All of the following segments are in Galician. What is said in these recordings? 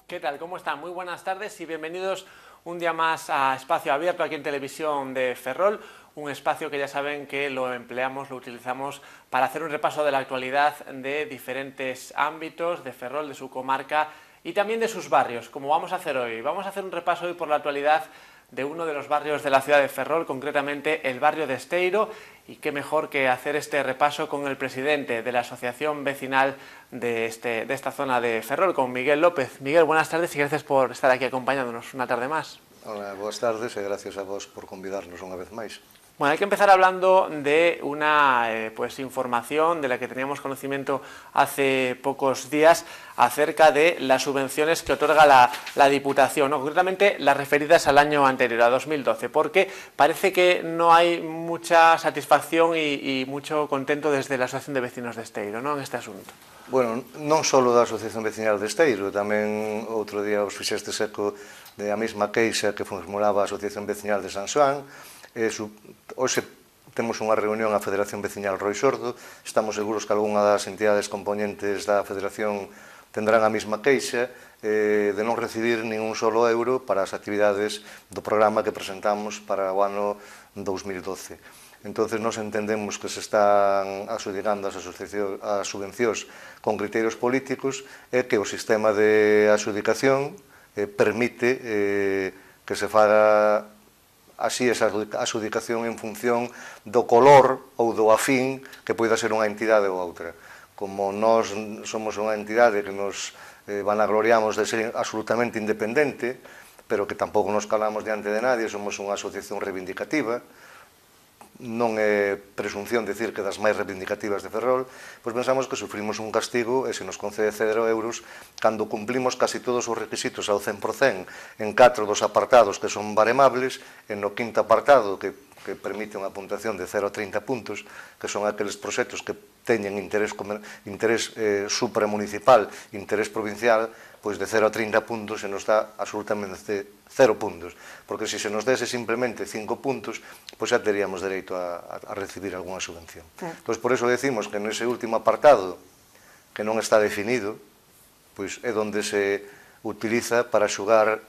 ¿Qué tal? ¿Cómo están? Muy buenas tardes y bienvenidos un día más a Espacio Abierto aquí en Televisión de Ferrol, un espacio que ya saben que lo empleamos, lo utilizamos para hacer un repaso de la actualidad de diferentes ámbitos de Ferrol, de su comarca y también de sus barrios, como vamos a hacer hoy. Vamos a hacer un repaso hoy por la actualidad de uno de los barrios de la ciudad de Ferrol, concretamente el barrio de Esteiro, y qué mejor que hacer este repaso con el presidente de la asociación vecinal de esta zona de Ferrol, con Miguel López. Miguel, buenas tardes y gracias por estar aquí acompañándonos una tarde más. Hola, boas tardes e gracias a vos por convidarnos unha vez máis. Bueno, hay que empezar hablando de una información de la que teníamos conocimiento hace pocos días acerca de las subvenciones que otorga la Diputación, ¿no? Concretamente las referidas al año anterior, a 2012, porque parece que no hay mucha satisfacción y mucho contento desde la Asociación de Vecinos de Esteiro, ¿no?, en este asunto. Bueno, non só da Asociación Vecinal de Esteiro, tamén outro día os fixestes eco de a mesma queixa que formulaba a Asociación Vecinal de San Xoán. Hoxe temos unha reunión a Federación Veciñal Roi Sordo, estamos seguros que algunha das entidades componentes da Federación tendrán a mesma queixa de non recibir ningún solo euro para as actividades do programa que presentamos para o ano 2012. Entonces, nos entendemos que se están adxudicando as subvencións con criterios políticos e que o sistema de adxudicación permite que se faga así esa adxudicación en función do color ou do afín que poida ser unha entidade ou outra. Como nós somos unha entidade que nos vanagloriamos de ser absolutamente independente, pero que tampouco nos calamos diante de nadie, somos unha asociación reivindicativa, non é presunción dicir que das máis reivindicativas de Ferrol, pois pensamos que sufrimos un castigo e se nos concede 0 euros cando cumplimos casi todos os requisitos ao 100% en 4 dos apartados que son baremables, en no quinto apartado que permite unha puntuación de 0 a 30 puntos, que son aqueles proxectos que teñen interés supramunicipal, interés provincial, pois de 0 a 30 puntos se nos dá absolutamente 0 puntos, porque se nos dese simplemente 5 puntos, pois xa teríamos dereito a recibir algunha subvención. Pois por eso decimos que nese último apartado, que non está definido, pois é onde se utiliza para xugar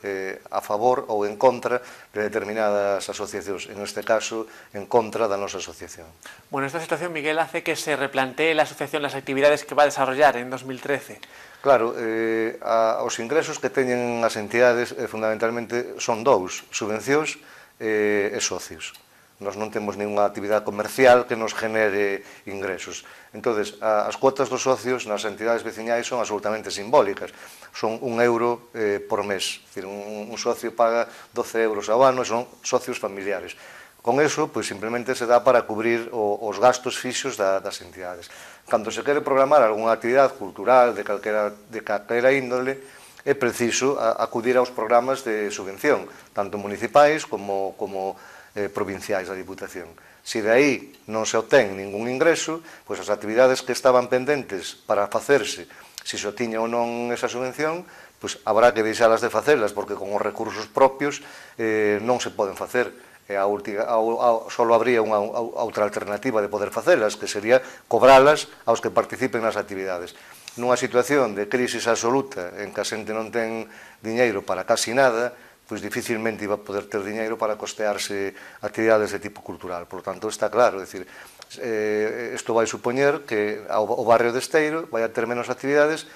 a favor ou en contra de determinadas asociacións, en este caso, en contra da nosa asociación. Bueno, esta situación, Miguel, hace que se replantee la asociación las actividades que va a desarrollar en 2013. Claro, os ingresos que teñen as entidades fundamentalmente son dous, subvencións e socios. Nós non temos ninguna actividade comercial que nos genere ingresos. Entón, as cuotas dos socios nas entidades veciñais son absolutamente simbólicas. Son 1 euro por mes. Un socio paga 12 euros ao ano e son socios familiares. Con eso, pois, simplemente se dá para cubrir os gastos fixos das entidades. Cando se quere programar algunha actividade cultural de calquera índole, é preciso acudir aos programas de subvención, tanto municipais como provinciais da Diputación. Se de aí non se obtén ningún ingreso, pois as actividades que estaban pendentes para facerse, se se tiña ou non esa subvención, pois habrá que deixalas de facelas, porque con os recursos propios non se poden facer. Só habría unha outra alternativa de poder facelas, que sería cobralas aos que participen nas actividades. Nunha situación de crisis absoluta, en que a xente non ten diñeiro para casi nada, pois dificilmente iba a poder ter diñeiro para costearse actividades de tipo cultural. Por tanto, está claro, isto vai supoñer que o barrio de Esteiro vai a ter menos actividades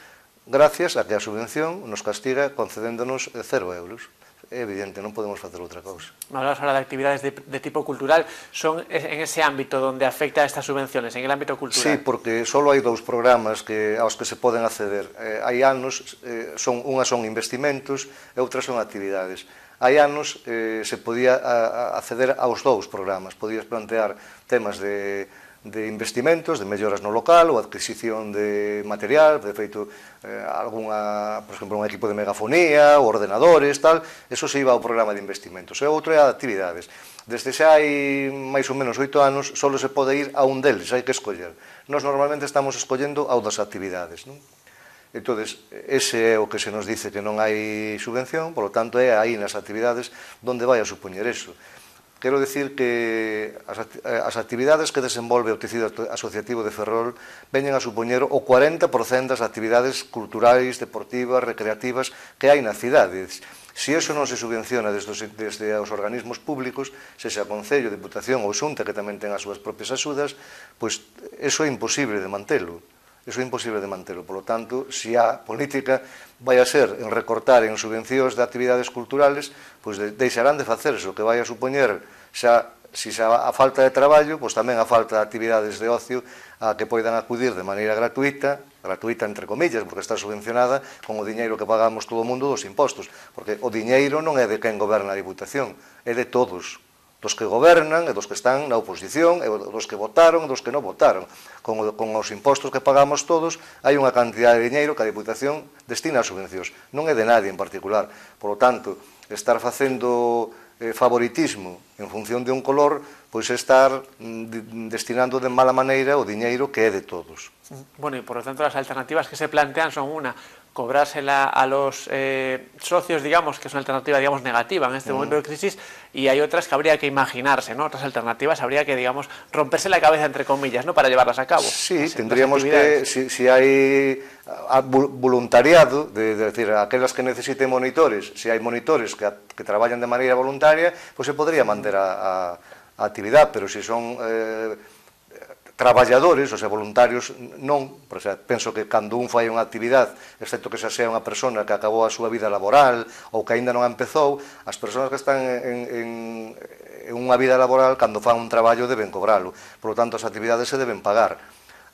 gracias a que a subvención nos castiga concedéndonos 0 euros. É evidente, non podemos facer outra cousa. Hablamos ahora de actividades de tipo cultural. Son en ese ámbito donde afecta a estas subvenciones, en el ámbito cultural? Sí, porque só hai 2 programas aos que se poden acceder. Hai anos, unhas son investimentos e outras son actividades. Hai anos se podía acceder aos 2 programas. Podías plantear temas de investimentos, de melloras no local ou adquisición de material, de feito, por exemplo, un equipo de megafonía, ou ordenadores, tal, eso se iba ao programa de investimentos. E outro é a de actividades. Desde xa hai máis ou menos 8 anos, só se pode ir a un deles, hai que escoller. Nós normalmente estamos escollendo ao das actividades, non? Entón, ese é o que se nos dice que non hai subvención, polo tanto, é aí nas actividades onde vai a supoñer eso. Quero dicir que as actividades que desenvolve o tecido asociativo de Ferrol veñen a supoñer o 40% das actividades culturais, deportivas, recreativas que hai na cidade. Se iso non se subvenciona desde os organismos públicos, sexa Concello, Diputación ou Xunta, que tamén ten as súas propias axudas, pois iso é imposible de mantelo. Iso é imposible de mantelo. Por lo tanto, se a política vai a ser en recortar en subvencións de actividades culturales, pois deixarán de facerse, o que vai a supoñer xa, se xa a falta de traballo, pois tamén a falta de actividades de ocio a que poidan acudir de maneira gratuita entre comillas, porque está subvencionada con o diñeiro que pagamos todo o mundo dos impostos, porque o diñeiro non é de quen goberna a Diputación, é de todos, dos que gobernan e dos que están na oposición, e dos que votaron e dos que non votaron. Con os impostos que pagamos todos, hai unha cantidad de diñeiro que a Diputación destina a subvencións. Non é de nadie en particular. Por lo tanto, estar facendo favoritismo en función de un color, pois é estar destinando de mala maneira o diñeiro que é de todos. Bueno, y por lo tanto las alternativas que se plantean son una, cobrársela a los socios, digamos, que es una alternativa, digamos, negativa en este momento de crisis, y hay otras que habría que imaginarse, ¿no? Otras alternativas habría que, digamos, romperse la cabeza, entre comillas, ¿no? Para llevarlas a cabo. Sí, tendríamos que, si hay voluntariado, de decir, aquelas que necesiten monitores, si hai monitores que traballan de maneira voluntaria, pues se podría manter a actividade, pero se son traballadores, ou sea, voluntarios, non. Por sea, penso que cando un fai unha actividade, excepto que xa sea unha persona que acabou a súa vida laboral ou que aínda non empezou, as persoas que están en unha vida laboral, cando fan un traballo, deben cobralo. Por lo tanto, as actividades se deben pagar.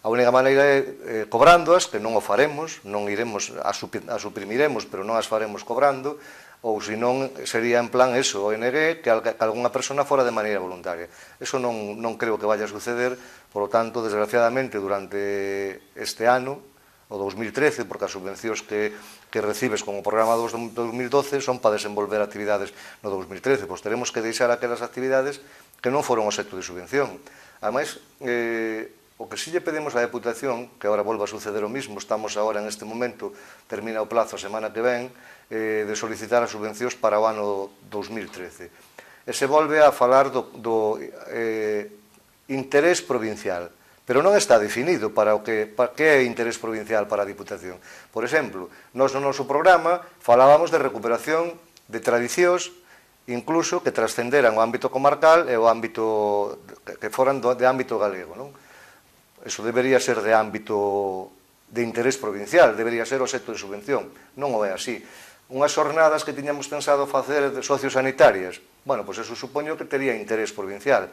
A única maneira é cobrándoas, que non o faremos, non iremos, as suprimiremos, pero non as faremos cobrando, ou senón sería en plan eso, ONG, que algunha persona fora de maneira voluntaria. Eso non creo que vaya a suceder, por lo tanto, desgraciadamente, durante este ano, o 2013, porque as subvencións que recibes como programa do 2012 son para desenvolver actividades no 2013, pois teremos que deixar aquelas actividades que non foron obxecto de subvención. Ademais, o que sí lle pedimos á Deputación, que agora volva a suceder o mismo, estamos agora en este momento, termina o plazo a semana que ven, de solicitar as subvencións para o ano 2013. E se volve a falar do interés provincial, pero non está definido para que é interés provincial para a Diputación. Por exemplo, nós no noso programa falábamos de recuperación de tradicións, incluso que trascenderan o ámbito comarcal e o ámbito que foran de ámbito galego, non? Eso debería ser de ámbito de interés provincial, debería ser obxecto de subvención. Non o é así. Unhas xornadas que tiñamos pensado facer de sociosanitarias, bueno, pois eso supoño que tería interés provincial.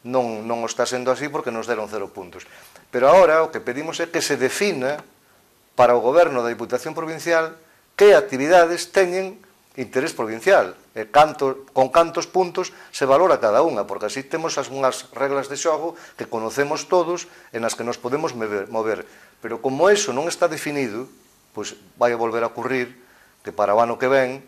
Non o está sendo así porque nos deron 0 puntos. Pero agora o que pedimos é que se defina para o goberno da Diputación Provincial que actividades teñen interés provincial, e con cantos puntos se valora cada unha, porque así temos unhas reglas de xogo que conocemos todos e nas que nos podemos mover. Pero como eso non está definido, pois vai a volver a ocurrir que para o ano que ven,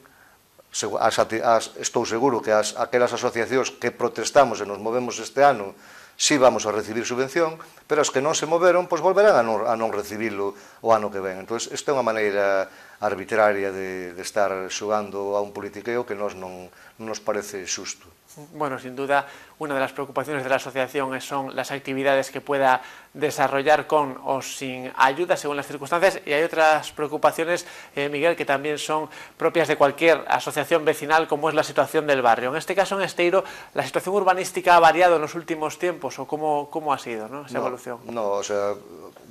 estou seguro que aquelas asociacións que protestamos e nos movemos este ano, sí vamos a recibir subvención, pero as que non se moveron, pois volverán a non recibilo o ano que ven. Entón, isto é unha maneira arbitraria de estar xogando a un politiqueo que non nos parece xusto. Bueno, sin duda, una de las preocupaciones de la asociación son las actividades que pueda desarrollar con o sin ayuda según las circunstancias, y hay otras preocupaciones, Miguel, que también son propias de cualquier asociación vecinal, como es la situación del barrio. En este caso, en Esteiro, ¿la situación urbanística ha variado en los últimos tiempos o cómo ha sido, ¿no? Esa evolución? No, o sea,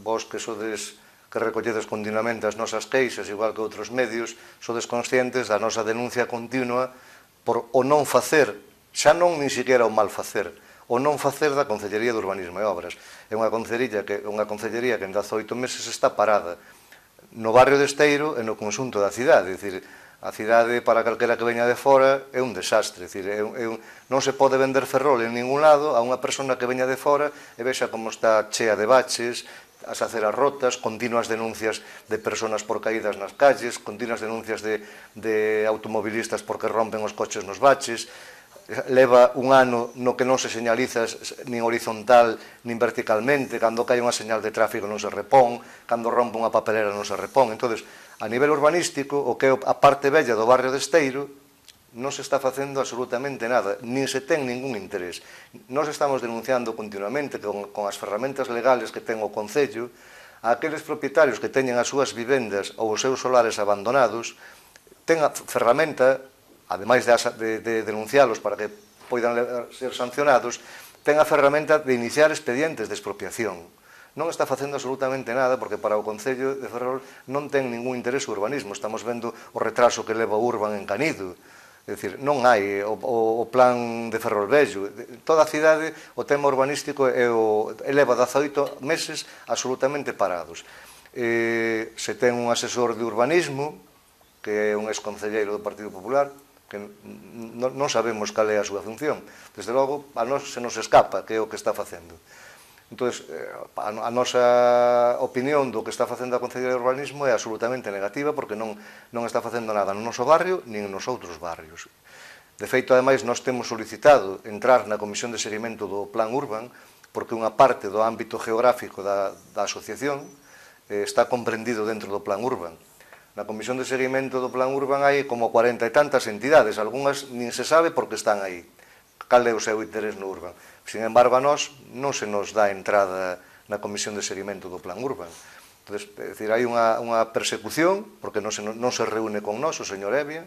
vos que sodes que recolledes continuamente as nosas queixas, igual que outros medios, sodes conscientes da nosa denuncia continua por o non facer, xa non nin siquiera o mal facer, o non facer da Concellería de Urbanismo e Obras. É unha concellería que en 18 meses está parada no barrio de Esteiro e no conxunto da cidade. É dicir, a cidade para calquera que veña de fora é un desastre. É dicir, non se pode vender Ferrol en ningún lado a unha persona que veña de fora e vexa como está chea de baches, as aceras rotas, continuas denuncias de personas por caídas nas calles, continuas denuncias de automobilistas porque rompen os coches nos baches. leva un ano no que non se señaliza nin horizontal nin verticalmente, cando cae unha señal de tráfico non se repón, cando rompe unha papelera non se repón. Entón, a nivel urbanístico, o que é a parte bella do barrio de Esteiro, non se está facendo absolutamente nada, nin se ten ningún interés. Nós estamos denunciando continuamente con as ferramentas legales que ten o Concello a aqueles propietarios que teñen as súas vivendas ou os seus solares abandonados, ten a ferramenta, ademais de denuncialos para que poidan ser sancionados, ten a ferramenta de iniciar expedientes de expropiación. Non está facendo absolutamente nada porque para o Concello de Ferrol non ten ningún interés o urbanismo. Estamos vendo o retraso que leva o Urban en Canido. É dicir, non hai o plan de Ferrol Vello. Toda a cidade, o tema urbanístico eleva 18 meses absolutamente parados. Se ten un asesor de urbanismo, que é un exconcelleiro do Partido Popular, que non sabemos cal é a súa función. Desde logo, a nós se nos escapa que é o que está facendo. Entón, a nosa opinión do que está facendo a Concellería de Urbanismo é absolutamente negativa porque non está facendo nada no noso barrio nin nos outros barrios. De feito, ademais, nós temos solicitado entrar na Comisión de Seguimento do Plan Urban porque unha parte do ámbito geográfico da asociación está comprendido dentro do Plan Urban. Na Comisión de Seguimento do Plan Urban hai como 40 e tantas entidades, algunhas nin se sabe por que están aí, cal é o seu interés no Urban. Sin embargo, a nós non se nos dá entrada na Comisión de Seguimento do Plan Urban. Entón, é dicir, hai unha persecución, porque non se reúne con nós o señor Evia,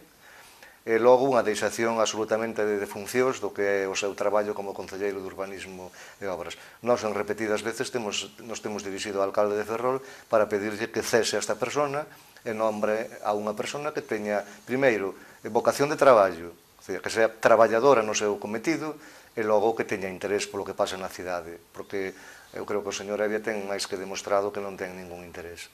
e logo unha deixación absolutamente de funcións do que é o seu traballo como Concelleiro de Urbanismo e Obras. Nós, en repetidas veces, nos temos dirixido ao alcalde de Ferrol para pedirlle que cese a esta persona e nombre a unha persona que teña, primeiro, vocación de traballo, que sea traballadora no seu cometido, e logo que teña interés polo que pasa na cidade, porque eu creo que o señor Evia ten máis que demostrado que non ten ningún interés.